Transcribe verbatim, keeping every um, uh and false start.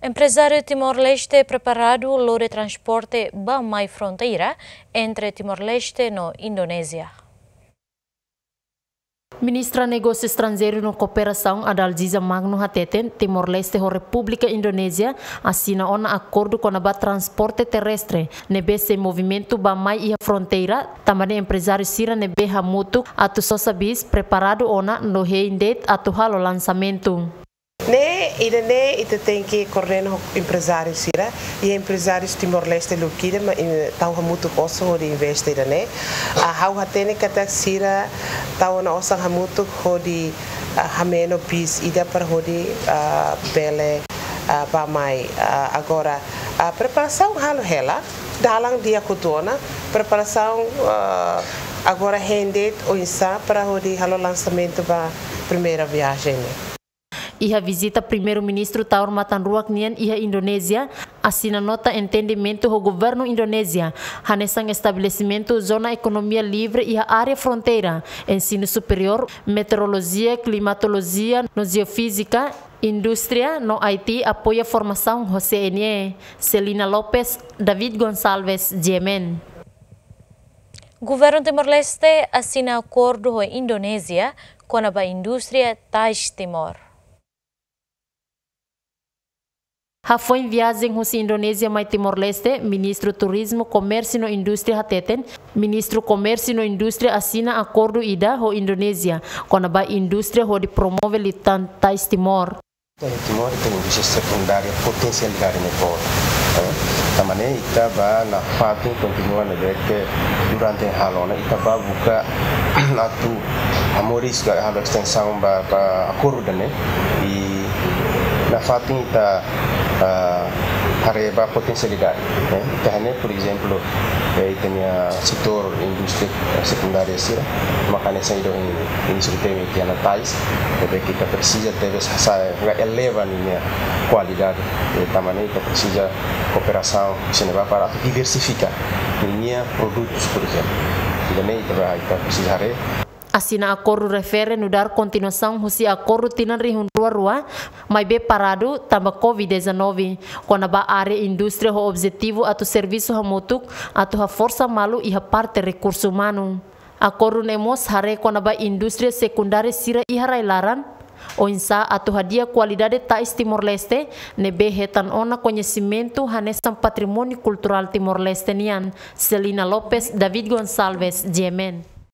Emprezáriu Timor-Leste preparadu lori transporte ba-mai fronteira entre Timor-Leste no Indonézia. Ministra Negósiu Estranjeiru no Kooperasaun, Adalgisa Magno, hateten Timor-Leste ho Repúblika Indonézia asina ona akordu kona-ba transporte terrestre, ne'ebé sei movimentu ba-mai iha fronteira, tanba ne'e emprezáriu sira ne'ebé hamutuk atu sosa bis preparadu ona no hein de'it atu halo lansamentu. Ne'e, ida-ne'e ita tenke koordena ho emprezáriu sira, i emprezáriu Timor-Leste lukidan, ma, eh, tau hamutuk osan hodi investe ida-ne'e. Ah, ha'u hatene katak sira tau ona osan hamutuk hodi, ah, hameno bis ida para hodi, ah, bele, ah, ba-mai. Ah, agora, ah, preparasaun halo hela, dalan di'ak hotu ona, preparasaun, ah, agora hein de'it oinsá para hodi halo lansamentu ba primeira viajen ne'e. Iha vizita Primeiru-Ministru Taur Matan Ruak nian iha Indonézia, asina nota entendimentu ho governu Indonézia, hanesan estabelesimentu zona ekonomia livre iha área fronteira, ensinu superiór, meteorolojia, klimatolojia no jeofízika, indústria no I T apoia formasaun ho C N E. Celina Lopes, David Gonçalves, G M N. Governu Timor-Leste asina akordu ho Indonézia kona-ba indústria tais Timor. Hafoin viajen husi Indonézia mai Timor-Leste, Ministru Turizmu, Komérsiu no Indústria hateten, Ministru Komérsiu no Indústria asina akordu ida ho Indonézia kona-ba indústria hodi promove liután tais Timor. Timor ita indústria sekundária potensialidade ne'e boot. Eh, tanba ne'e ita ba nafatin kontinua ne'ebé ke durante halo ona ita ba buka atu hamoris ka halo estensaun ba, ba akordu ne'e. I nafatin ita, ah, haree ba potensialidade, eh. Ita hatene, por ezemplu, eh, ita-nia setór indústria sekundária sira, maka hanesan ida ohin Ministru temi tiha ona tais, ne'ebé ke ita presiza tebes hasa'e, eleva ninia kualidade. Eh, tanba ne'e ita presiza kooperasaun sira-ne'ebá para atu diversifika ninia produtus, por ezemplu. Ida-ne'e ita ba, ita presiza haree. Asina akordu refere nu'udar kontinuasaun husi akordu tinan rihun rua rua, maibé paradu tanba covid dezanove, kona-ba área indústria ho objetivu atu servisu hamutuk atu haforsa malu iha parte rekursu umanu. Akordu ne'e mós haree kona-ba indústria sekundária sira iha rai-laran, oinsá atu hadi'a kualidade tais Timor-Leste, ne'ebé hetan ona koñesimentu hanesan patrimóniu kulturál Timor-Leste nian. Celina Lopes, David Gonçalves, G M N.